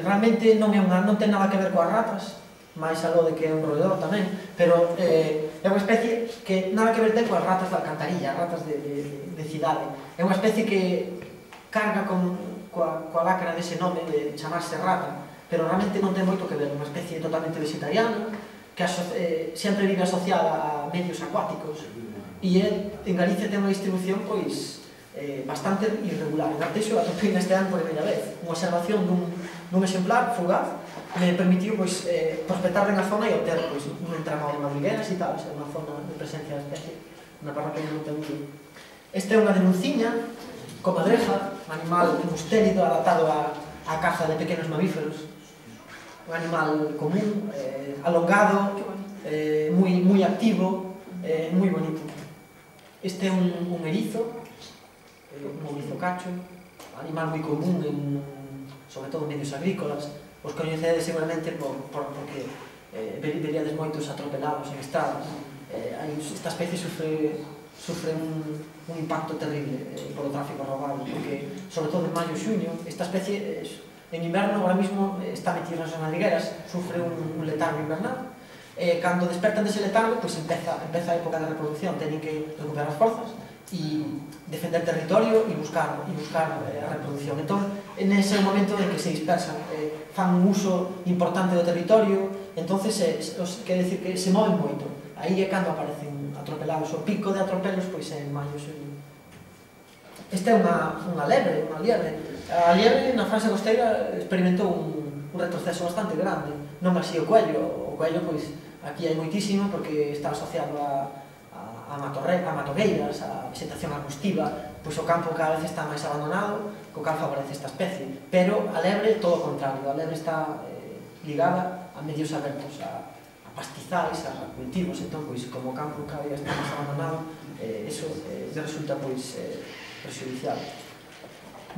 Realmente non ten nada que ver coas ratas, máis algo de que é un roedor tamén, pero é unha especie que nada que ver ten coas ratas da alcantarilla, ratas de cidade. É unha especie que carga coa lacra dese nome de chamarse rata, pero realmente non ten moito que ver, unha especie totalmente vegetariana, que sempre vive asociada a medios acuáticos, e en Galicia ten unha distribución bastante irregular. En Arteixo atopei neste ano por primeira vez unha observación dun exemplar fugaz me permitiu prospectar na zona e obter un entramado de madrigueras e tal, unha zona de presencia da especie na parroquia de Montemuro. Esta é unha denunciña comadreja, un animal mustélido adaptado á caza de pequenos mamíferos, un animal común, alongado, moi activo, moi bonito. Este é un erizo, un ourizo cacho, animal moi común, sobre todo en medios agrícolas. Os coñecedes seguramente porque veríades moitos atropelados en estradas. Esta especie sufre un impacto terrible polo tráfico robado, porque, sobre todo en maio e xuño, esta especie en inverno ahora mismo está metida nas madrigueras, sufre un letargo invernal. Cando despertan dese letargo, empeza a época de reproducción, teñen que recuperar as forzas e defender territorio e buscar a reproducción. Entón, nese momento en que se dispersan, fan un uso importante do territorio, entonces quer dicir que se moven moito. Aí é cando aparecen atropelados. O pico de atropelos é en maio e xuño. Esta é unha liebre. A liebre na Franxa costeira experimentou un retroceso bastante grande, non así o coello. O coello, aquí hai moitísimo porque está asociado a matogueiras, a vegetación arbustiva, o campo cada vez está máis abandonado, co cal favorece esta especie. Pero a lebre, todo o contrario, a lebre está ligada a medios abertos, a pastizais, a cultivos, entón, como o campo cada vez está máis abandonado, eso resulta prexudicial.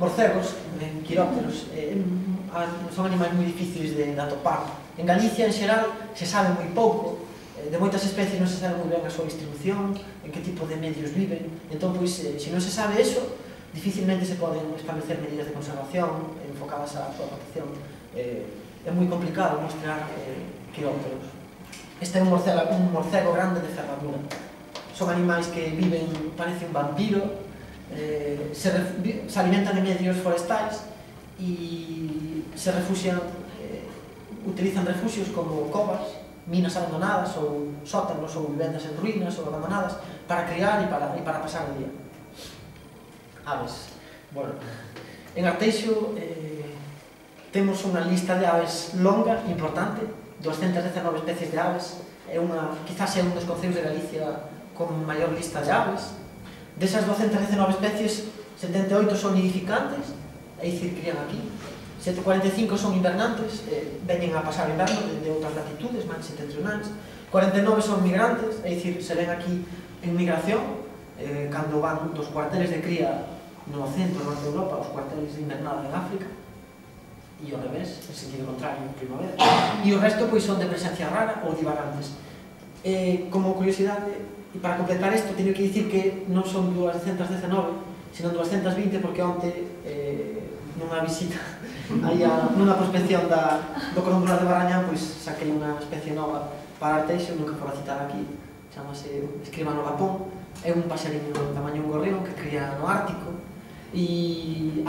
Morcegos, quirópteros, son animais moi difíciles de atopar. En Galicia, en xeral, se sabe moi pouco, de moitas especies non se sabe moi ben a súa distribución, en que tipo de medios viven. Entón, se non se sabe eso, dificilmente se poden establecer medidas de conservación enfocadas á súa protección. É moi complicado mostrar quirópteros. Este é un morcego grande de ferradura. Son animais que viven, parece un vampiro, se alimentan de medios forestais e se refuxian, utilizan refuxios como covas, minas abandonadas ou sótanos ou vivendas en ruínas ou abandonadas para criar e para pasar o día. Aves. Bueno, en Arteixo temos unha lista de aves longa, importante, 219 especies de aves. Quizás é un dos concellos de Galicia con maior lista de aves. Desas 219 especies, 78 son nidificantes, é dicir, crían aquí. 145 son invernantes, veñen a pasar o inverno de outras latitudes, máis setentrionais. 49 son migrantes, é dicir, se ven aquí en migración, cando van dos cuarteles de cría no centro, no norte de Europa, aos cuarteles de invernada en África, e ao revés, en sentido contrario, en primavera. E o resto son de presencia rara ou divagantes. Como curiosidade, e para completar isto, teño que dicir que non son 219, sino 220, porque onte, nunha visita nunha prospección do Corombola de Barrañán, saquei unha especie nova para Arteixo, nunca fora citar aquí, chamase escribano lapón. É un paxariño do tamaño un gorrión que cría no Ártico, e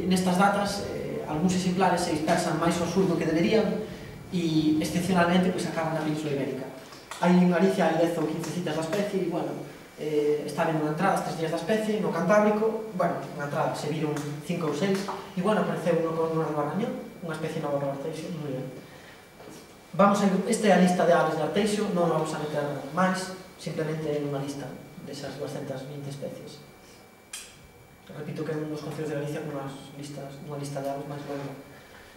nestas datas algúns exemplares se dispersan máis ao sur do que deberían e excepcionalmente acaban na Península Ibérica. Hai en Galicia 10 ou 15 citas da especie e, está vendo unha entrada estes días da especie no Cantábrico, unha entrada, se viron 5 ou 6 e, apareceu no Corombola de Barrañán, unha especie nova para Arteixo, moi ben. Esta é a lista de aves de Arteixo, non vamos a meter máis, simplemente é unha lista desas 220 especies. Repito que é un dos concellos de Galicia con unha lista de aves máis longa.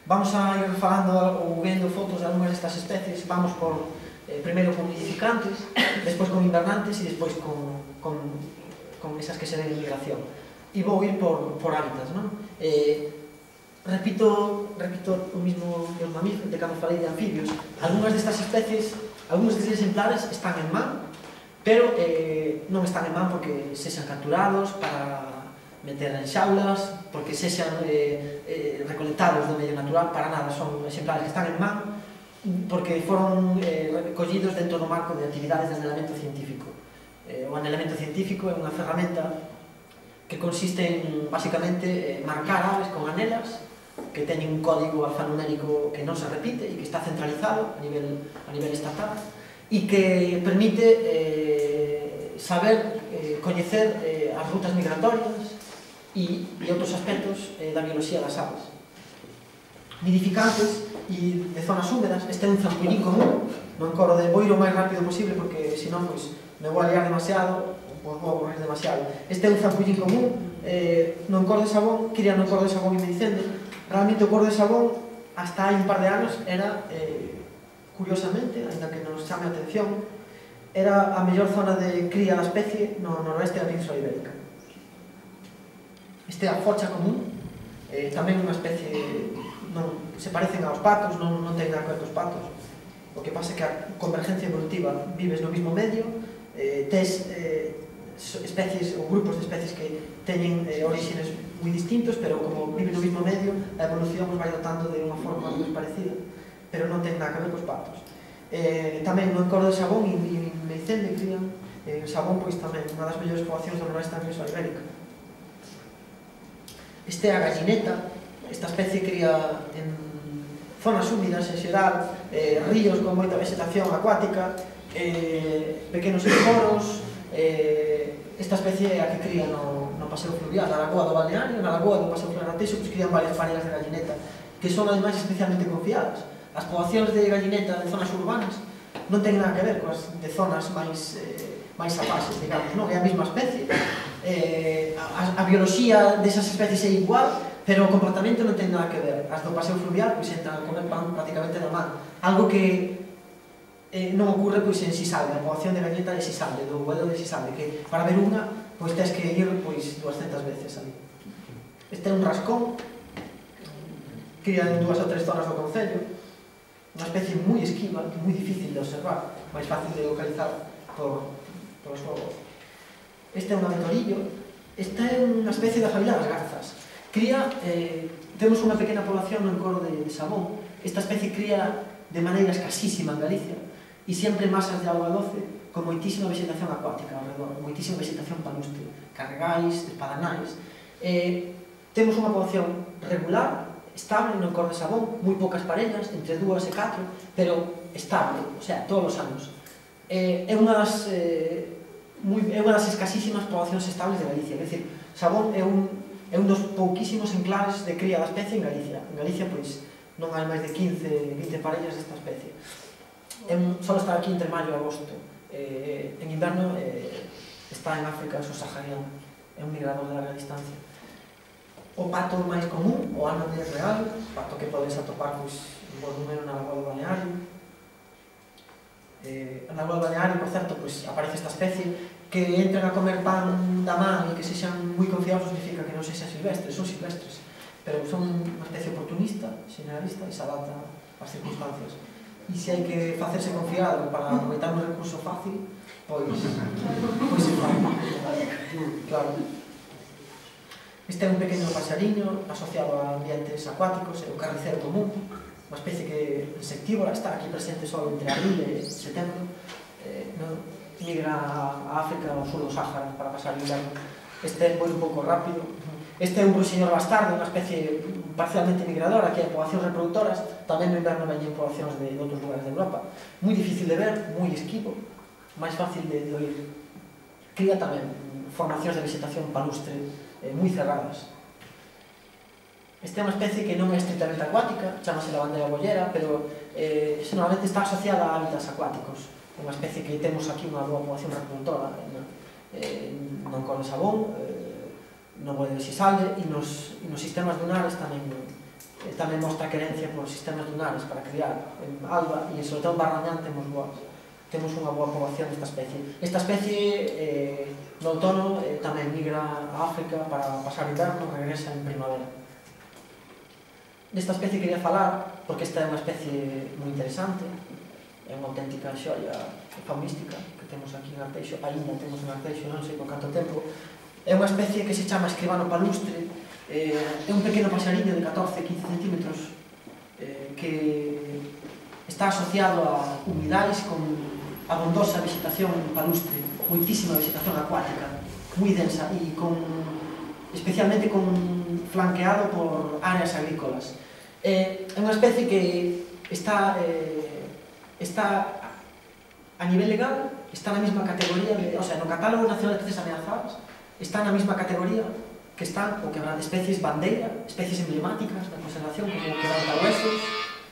Vamos a ir falando ou vendo fotos de algunhas destas especies. Vamos primeiro con nidificantes, despois con invernantes e despois con esas que se ven en migración. E vou ir por hábitats, non? Repito o mismo dos mamíferos, de cando falei de anfibios. Algúnas destas especies, algúns destes exemplares están en man, pero non están en man porque se xan capturados meter en xaulas, porque sexan recolectados do medio natural, para nada, son exemplares que están en man, porque foron collidos dentro do marco de actividades de anhelamento científico. O anhelamento científico é unha ferramenta que consiste en, basicamente, marcar aves con anelas que teñen un código alfanumérico que non se repite e que está centralizado a nivel estatal e que permite saber, coñecer as rutas migratorias e outros aspectos da biología das aves. Nidificantes e de zonas húmedas, este é un zampullín común, non corro de vou ir o máis rápido posible porque senón me vou a liar demasiado, vou aburrir demasiado. Este é un zampullín común, non cor de sabón, cría non cor de sabón e medicende. Realmente o cor de sabón, hasta hai un par de anos, era, curiosamente, ainda que nos chame a atención, era a mellor zona de cría da especie no noroeste da Península Ibérica. Este é a focha común, tamén unha especie, se parecen aos patos, non ten nada que ver cos patos. O que pasa é que a convergencia evolutiva, vives no mesmo medio, tes especies ou grupos de especies que teñen orígenes moi distintos, pero como viven no mesmo medio, a evolución os vai dotando de unha forma moi parecida, pero non ten nada que ver cos patos. Tamén no encordo de sabón e medicende crían sabón, pois tamén unha das mellores poboacións do noroeste da Península Ibérica. Este é a gallineta, esta especie cría en zonas húmidas en xeral, ríos con moita vegetación acuática, pequenos esporos. Esta especie é a que cría no paseo fluvial, na lagoa do balneario, na lagoa do paseo fluvial Arteixo, pois crían varias parejas de gallineta, que son ademais especialmente confiadas. As poboacións de gallineta de zonas urbanas non ten nada que ver coas de zonas máis apases, digamos, non? É a mesma especie. A bioloxía desas especies é igual, pero o comportamento non ten nada que ver. As do paseo fluvial, pois entran a comer pan prácticamente na man. Algo que non ocurre pois en Sisalde, a poboación de galleta de Sisalde, do Buedo de Sisalde, que para ver unha, pois tens que ir pois 200 veces ali. Este é un rascón, cría en 2 ou 3 zonas do concello, unha especie moi esquiva, moi difícil de observar, máis fácil de localizar por os fogos. Este é un avetorillo, esta é unha especie de familia das garzas. Cría, temos unha pequena población no encoro de Sabón. Esta especie cría de maneira escasísima en Galicia e sempre masas de auga doce con moitísima vegetación acuática ao redor, moitísima vegetación palustre, carregais, espadanais. Temos unha población regular, estable no encoro de Sabón, moi poucas parellas, entre 2 e 4, pero estable, o sea, todos os anos. É unha das escasísimas poboacións estables de Galicia, é dicir, Sabón é un dos pouquísimos enclaves de cría da especie en Galicia. En Galicia, pois, non hai máis de 15, 20 parellas desta especie. Só está aquí entre maio e agosto. En inverno está en África subsahariana, é un migrador de larga distancia. O pato máis común, o ánode real, pato que podes atopar en bo número na lagoa do balneario. Na lagoa do balneario, por certo, aparece esta especie que entran a comer pan da man e que sexan moi confiados significa que non sexan silvestres, son silvestres, pero son unha especie oportunista, generalista e se adapta ás circunstancias. E se hai que facerse confiado para aproveitar un recurso fácil, pois se fai. Claro. Este é un pequeno paxariño asociado a ambientes acuáticos, é o carnicero común, unha especie que insectívora, está aquí presente só entre abril e setembro, migra a África ao sur do Sáhara para pasar o inverno. Este foi un pouco rápido. Este é un ruiseñor bastardo, unha especie parcialmente migradora, que hai poboacións reproductoras, tamén no inverno veñen poboacións de outros lugares de Europa. Moi difícil de ver, moi esquivo, máis fácil de oír. Cría tamén formacións de vegetación palustre moi cerradas. Esta é unha especie que non é estritamente acuática, chamase lavandeira bollera, pero normalmente está asociada a hábitats acuáticos. Unha especie que temos aquí unha boa poboación reproductora no encoro de Sabón, no Buedo de Sisalde, e nos sistemas dunares tamén mostra querencia por sistemas dunares para criar. En Alba e sobre todo en Barrañán temos unha boa poboación desta especie. Esta especie no outono tamén migra a África para pasar o inverno, regresa en primavera. Desta especie quería falar porque esta é unha especie moi interesante, é unha auténtica xoia faunística que temos aquí en Arteixo, aínda temos en Arteixo, non sei por canto tempo, É unha especie que se chama escribano palustre, é un pequeno paxariño de 14-15 centímetros que está asociado a humidais con abondosa vegetación palustre, moitísima vegetación acuática, moi densa e especialmente flanqueado por áreas agrícolas. É unha especie que está a nivel legal, está na mesma categoría, o sea, no Catálogo Nacional de Especies Ameazadas, está na mesma categoría que están o especies bandeira, especies emblemáticas da conservación, como o quebrantahuesos,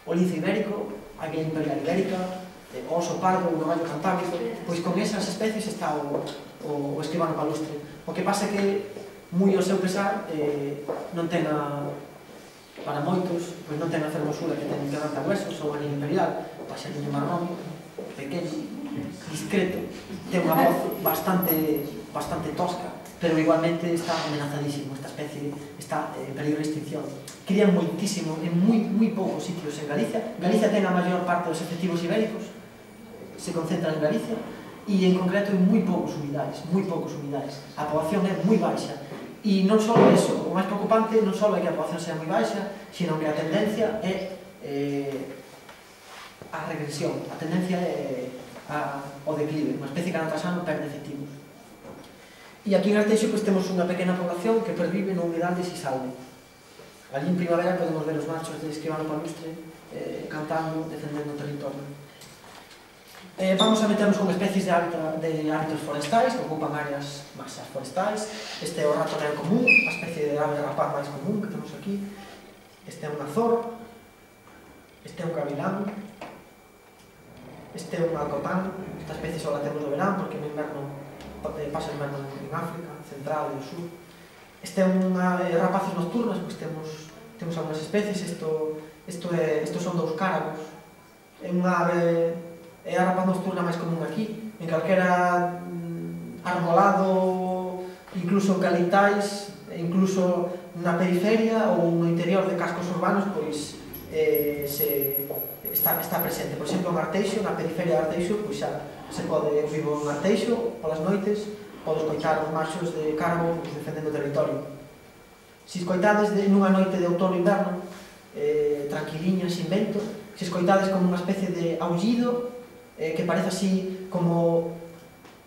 o lince ibérico, a águila imperial ibérica, o oso pardo, o caballo cantábrico. Pois con esas especies está o escribano palustre. O que pasa é que, moi ao seu pesar, non ten para moitos, pois non ten a fermosura que ten o quebrantahuesos ou a águila imperial, o paxariño marrón, pequeno, discreto, ten unha voz bastante tosca, pero igualmente está amenazadísimo. Esta especie está en peligro de extinción. Crían moitísimo en moi poucos sitios en Galicia. Galicia ten a maior parte dos efectivos ibéricos, se concentran en Galicia, e en concreto en moi poucos humidais. A poboación é moi baixa. E non só eso, o máis preocupante non só é que a poboación sea moi baixa, sino que a tendencia é a regresión, a tendencia é ao declive. Unha especie que ano tras ano perde efectivos. E aquí en Arteixo temos unha pequena población que pervive no humidal de Sisalde. Allí en primavera podemos ver os machos de escribano palustre cantando, defendendo o territorio. Vamos a meternos con especies de hábitos forestais que ocupan áreas masas forestais. Este é o rato negro común, a especie de ave rapaz máis común que temos aquí. Este é un azor, este é un gavilán, este é un alcotán. Esta especie só la temos no verán porque no inverno pasa o inverno en África Central e o Sur. Este é rapaces nocturnas, pois temos algunhas especies. Estos son dous cáragos. É unha ave, é a rapaz nocturna máis común aquí. En calquera arbolado, incluso calitais, incluso na periferia ou no interior de cascos urbanos, pois está presente. Por exemplo, en Arteixo, na periferia de Arteixo, pois xa se pode, eu vivo en Arteixo, polas noites, podes escoitar os machos de cárabo defendendo o territorio. Se escoitades nunha noite de outono e inverno, tranquiliña, sin vento, se escoitades como unha especie de aullido, que parece así como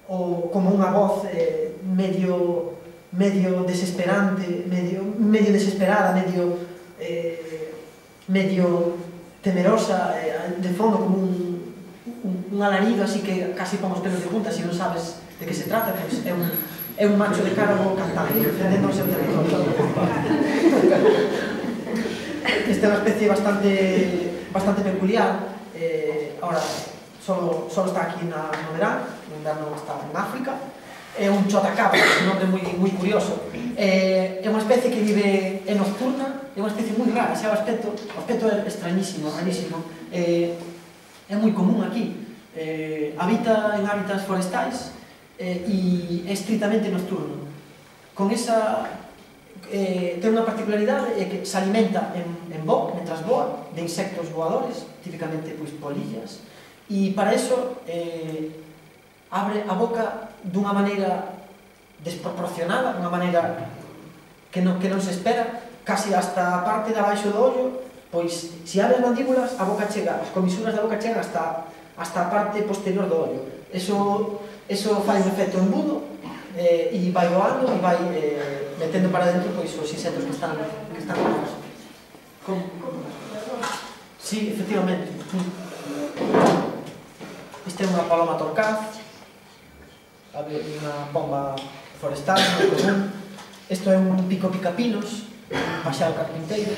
unha voz medio desesperante, medio desesperada, medio temerosa, de fondo como un alarido así que casi pon os pelos de punta se non sabes de que se trata. Pois é un macho de cárabo cantando, defendendo o seu territorio. Esta é unha especie bastante peculiar. Ahora, só está aquí no verán, no inverno está en África. É un chotacabra, un nombre moi curioso. É unha especie que vive nocturna, é unha especie moi rara, xa o aspecto é extrañísimo, rarísimo. É moi común aquí. Habita en hábitats forestais e é estritamente nocturno. Con esa ten unha particularidade, é que se alimenta en voo, mentras voa, de insectos voadores, típicamente polillas, e para iso abre a boca dunha maneira desproporcionada, dunha maneira que non se espera, casi hasta a parte de abaixo do ollo. Pois, se abre as mandíbulas, a boca chega, as comisuras da boca chegan hasta a parte posterior do ollo. Eso fai un efecto embudo e vai voando e vai metendo para dentro os insectos que están vivos. Sí, efectivamente. Este é unha paloma torcaz, unha pomba forestal moi común. Isto é un pico picapinos, un paxaro carpinteiro.